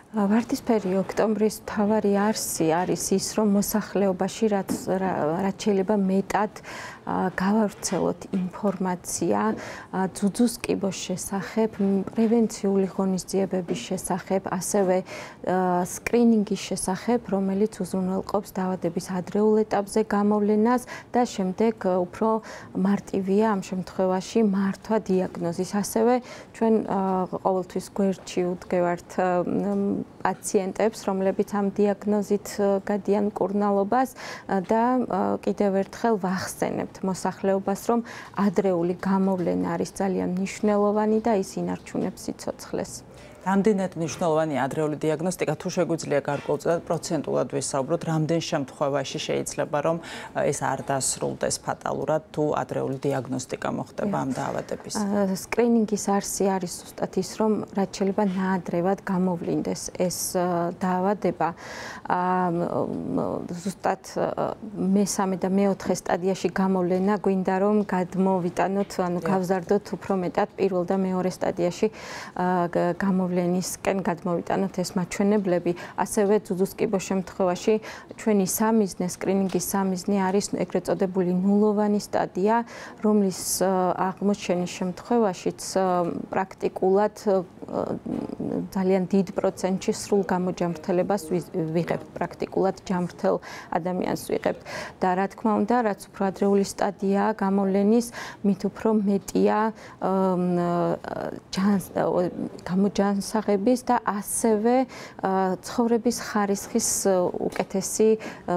ვარდისფერი ოქტომბრის მთავარი არსი არის ის, რომ მოსახლეობაში რაც შეიძლება მეტად გავავრცელოთ ინფორმაცია ძუძუს კიბოს შესახებ, პრევენციული ღონისძიებების შესახებ, ასევე სკრინინგის შესახებ, რომელიც უზრუნველყოფს დაავადების ადრეულ ეტაპზე გამოვლენას და შემდეგ უფრო მარტივია ამ შემთხვევაში მართვა დიაგნოზის. ასევე ჩვენ ყოველთვის გვერდში ვდგევართ პაციენტებს, რომლებიც ამ დიაგნოზით გადიან მკურნალობას და კიდევ ერთხელ ვახსენებთ მოსახლეობას, რომ ადრეული გამოვლენა არის ძალიან მნიშვნელოვანი და ის ინარჩუნებს სიცოცხლეს. რამდენად მნიშვნელოვანი ადრეული დიაგნოსტიკა, თუ შეგვიძლია გარკვეულწილად პროცენტულად ვისაუბროთ, რამდენ შემთხვევაში შეიძლება რომ ეს არ დასრულდეს ფატალურად, თუ ადრეული დიაგნოსტიკა მოხდება ამ დაავადების? სკრინინგის არსი არის ზუსტად ის, რომ რაც შეიძლება ნაადრევად გამოვლინდეს ეს დაავადება. ზუსტად მესამე და მეოთხე სტადიაში გამოვლენა გვინდა რომ გადმოვიტანოთ, ანუ გავზარდოთ უფრო მეტად პირველ და მეორე სტადიაში გამოვლენისკენ გადმოვიტანოთ ეს მაჩვენებლები. ასევე ძუძუს კიბოს შემთხვევაში ჩვენი სამიზნე, სკრინინგის სამიზნე არის ეგრეთ წოდებული ნულოვანი სტადია, რომლის აღმოჩენის შემთხვევაშიც პრაქტიკულად ძალიან დიდ პროცენტში სრულ გამოჯამრთელებას ვიღებთ, პრაქტიკულად ჯამრთელ ადამიანს ვიღებთ. და რა თქმა უნდა, რაც უფრო ადრეული სტადიაა გამოვლენის, მით უფრო მეტია გამოჯანსაღების და ასევე ცხოვრების ხარისხის უკეთესი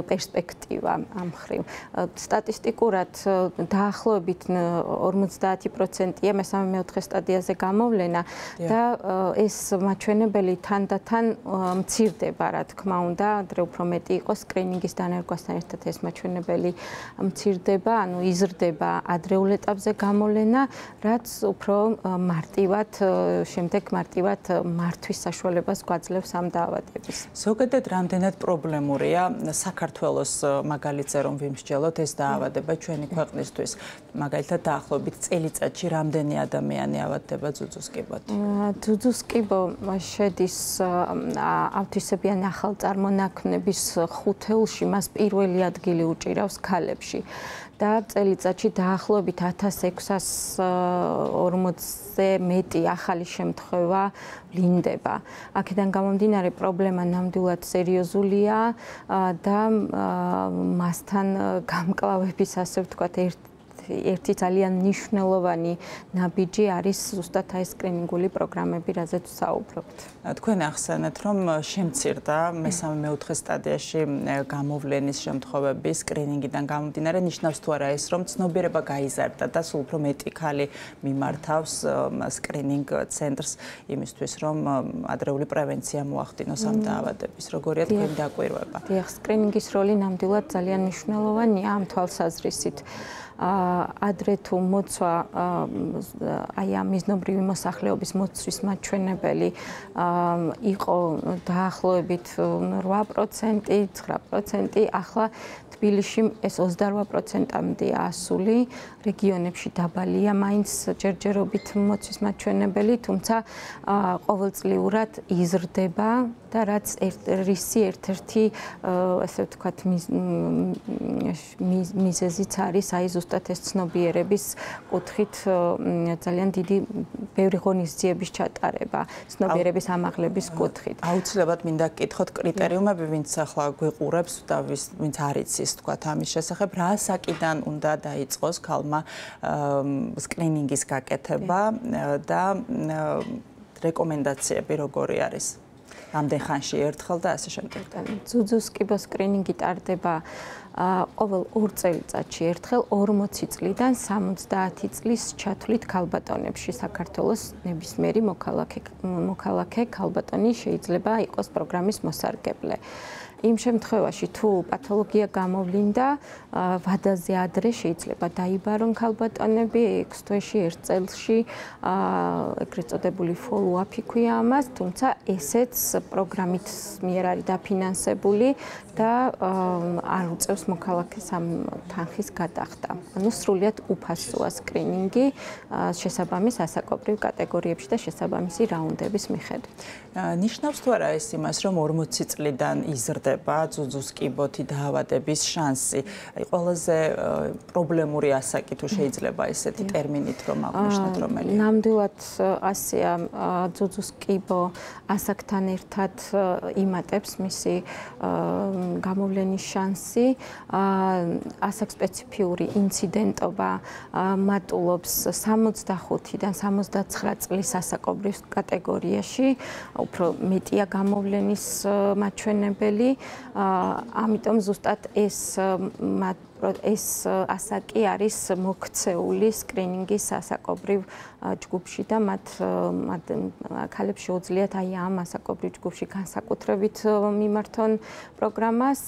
პერსპექტივა ამ მხრივ. სტატისტიკურად დაახლოებით 50%-ია მესამე-მეოთხე სტადიაზე გამოვლენა და ეს მაჩვენებელი თანდათან მცირდება, რა თქმა უნდა, ადრე უფრო მეტი იყოს სკრინინგის დანერგვასთან ერთად ეს მაჩვენებელი მცირდება, ანუ იზრდება ადრეულ ეტაპზე გამოვლენა, რაც უფრო მარტივად შემდეგ მარტივად მართვის საშუალებას გვაძლევს ამ დაავადების. ზოგადად რამდენად პრობლემურია საქართველოს მაგალითზე რომ ვიმსჯელოთ ეს დაავადება ჩვენი ქვეყნისთვის, მაგალითად დაახლოებით წელიწადში რამდენი ადამიანი ავადდება ძუძუს კიბოთ? ძუძუს კიბო შედის ავთვისებიანი ახალწარმონაქმნების ხუთეულში, მას პირველი ადგილი უჭირავს ქალებში. და წელიწადში დაახლოებით 1640-ზე მეტი ახალი შემთხვევა ვლინდება. აქედან გამომდინარე პრობლემა ნამდვილად სერიოზულია და მასთან გამკლავების, ასე ვთქვათ, ერთი ძალიან მნიშვნელოვანი ნაბიჯი არის ზუსტად აი სკრინინგული პროგრამები, რაზეც ვსაუბრობთ. თქვენ ახსენეთ, რომ შემცირდა მესამე-მეოთხე სტადიაში გამოვლენის შემთხვევების სკრინინგიდან გამომდინარე, ნიშნავს თუ არა ეს, რომ ცნობიერება გაიზარდა და სულ უფრო მეტი ქალი მიმართავს სკრინინგ ცენტრს იმისთვის, რომ ადრეული პრევენცია მოახდინოს ამ დაავადების. როგორია თქვენი დაკვირვება? დიახ, სკრინინგის როლი ნამდვილად ძალიან მნიშვნელოვანია ამ თვალსაზრისით. ადრე თუ მოცვა აი ამ მიზნობრივი მოსახლეობის მოცვის მაჩვენებელი იყო დაახლოებით 8%, 9%, ახლა თბილისში ეს 28%-მდე ასული, რეგიონებში დაბალია მაინც ჯერჯერობით მოცვის მაჩვენებელი, თუმცა ყოველწლიურად იზრდება და რაც რისი ერთ-ერთი ასე ვთქვათ მიზეზიც არის აი ზუსტად ეს ცნობიერების კუთხით ძალიან დიდი ბევრი ღონისძიების ჩატარება, ცნობიერების ამაღლების კუთხით. აუცილებლად მინდა გკითხოთ კრიტერიუმები, ვინც ახლა გვიყურებს და ვინც არ იცის თქვათ ამის შესახებ, რა საკიდან უნდა დაიწყოს ქალმა სკრინინგის გაკეთება და რეკომენდაციები როგორი არის? რამდენ ხანში ერთხელ და ასე შემდეგ. ძუძუს კიბოს სკრინინგი ტარდება ყოველ 2 წელიწადში ერთხელ 40 წლიდან 70 წლის ჩათვლით ქალბატონებში. საქართველოს ნებისმიერი მოქალაქე ქალბატონი შეიძლება იყოს პროგრამის მოსარგებლე. იმ შემთხვევაში თუ პათოლოგია გამოვლინდა, ვადაზე ადრე შეიძლება დაიბარონ ქალბატონები 6 თვეში, 1 წელში, ეგრეთ წოდებული follow-up-ი ქვია ამას, თუმცა ესეც პროგრამით მიერ არის დაფინანსებული და არ უწევს მოქალაქეს ამ თანხის გადახდა. ანუ სრულიად უფასოა სკრინინგი შესაბამის ასაკობრივ კატეგორიებში და შესაბამისი რაუნდების მიხედვით. ნიშნავს თუ არა ეს იმას, რომ 40 წლიდან იზრდება ძუძუს კიბოთი დაავადების შანსი? ყველაზე პრობლემური ასაკი თუ შეიძლება ესეთი ტერმინით რომ აღნიშნოთ რომელია? ნამდვილად ასეა, ძუძუს კიბო ასაკთან ერთად იმატებს მისი გამოვლენის შანსი, ასაკსპეციფიური ინციდენტობა მატულობს 65-დან 79 წლის ასაკობრივ კატეგორიაში, უფრო მეტია გამოვლენის მაჩვენებელი, ამიტომ ზუსტად ეს ასაკი არის მოქცეული სკრინინგის ასაკობრივ ჯგუფში და მათ ქალებს შეუძლიათ აი ამ ასაკობრივ ჯგუფში განსაკუთრებით მიმართონ პროგრამას,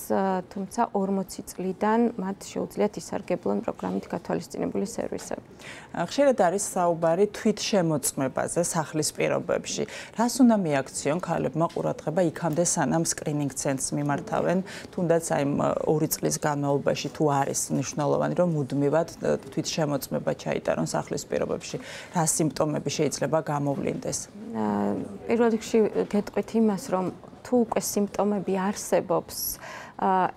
თუმცა 40 წლიდან მათ შეუძლიათ ისარგებლონ პროგრამით გათვალისწინებული სერვისები. ხშირად არის საუბარი თვითშემოწმებაზე სახლის პირობებში. რას უნდა მიაქციონ ქალებმა ყურადღება იქამდე სანამ სკრინინგ ცენტრს მიმართავენ, თუნდაც აი 2 წლის განმავლობაში თუ არის მნიშვნელოვანი რომ მუდმივად თვითშემოწმება ჩაიტარონ სახლის პირობებში. რა სიმპტომები შეიძლება გამოვლინდეს? პირველ რიგში გეტყვით იმას, რომ თუ უკვე სიმპტომები არსებობს,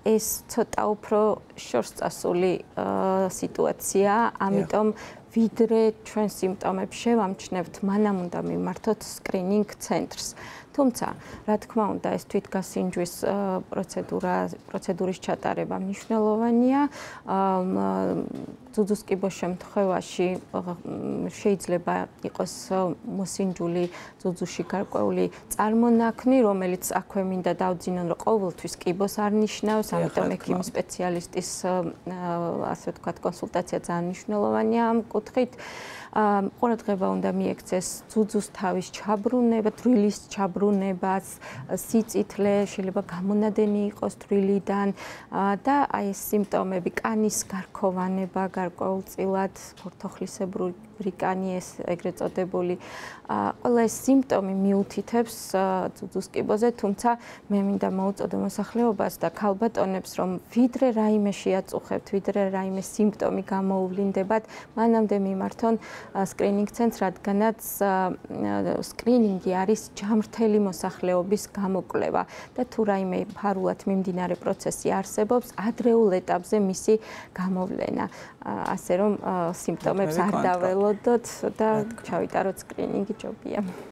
ეს ცოტა უფრო შორსწასული სიტუაციაა, ამიტომ ვიდრე ჩვენ სიმპტომებს შევამჩნევთ, მანამ უნდა მიმართოთ სკრინინგ ცენტრს. თუმცა, რა თქმა უნდა, ეს თვითგასინჯვის პროცედურის ჩატარება მნიშვნელოვანია. ძუძუს კიბოს შემთხვევაში შეიძლება იყოს მოსინჯული ძუძუში გარკვეული წარმონაქმნი, რომელიც აქვე მინდა დავძინონ, რომ ყოველთვის კიბოს არ ნიშნავს, ამიტომ ექიმი სპეციალისტის ასე ვთქვათ კონსულტაცია ძალიან მნიშვნელოვანია ამ კუთხით. ყურადღება უნდა მიექცეს ძუძუს თავის ჩაბრუნება, თბილის ჩაბრუნებას, სიწითლე, შეიძლება გამონადენი იყოს თბილიდან და აი ეს სიმპტომები, კანის გარქოვანება გარკვეულწილად, ფორთოხლისებური კანი ეს ეგრეთ წოდებული, ყველა ეს სიმპტომი მიუთითებს ძუძუს კიბოზე, თუმცა მე მინდა მოუწოდო მოსახლეობას და ქალბატონებს, რომ ვიდრე რაიმე შეაწუხებთ, ვიდრე რაიმე სიმპტომი გამოუვლინდებათ, მანამდე მიმართონ სკრინინგ ცენტრს, რადგანაც სკრინინგი არის ჯამრთელი მოსახლეობის გამოკვლევა და თუ რაიმე ფარულად მიმდინარე პროცესი არსებობს, ადრეულ ეტაპზე მისი გამოვლენა, ასე რომ სიმპტომებს არ დაველოდოთ და ჩავიტაროთ სკრინინგი ჯობია.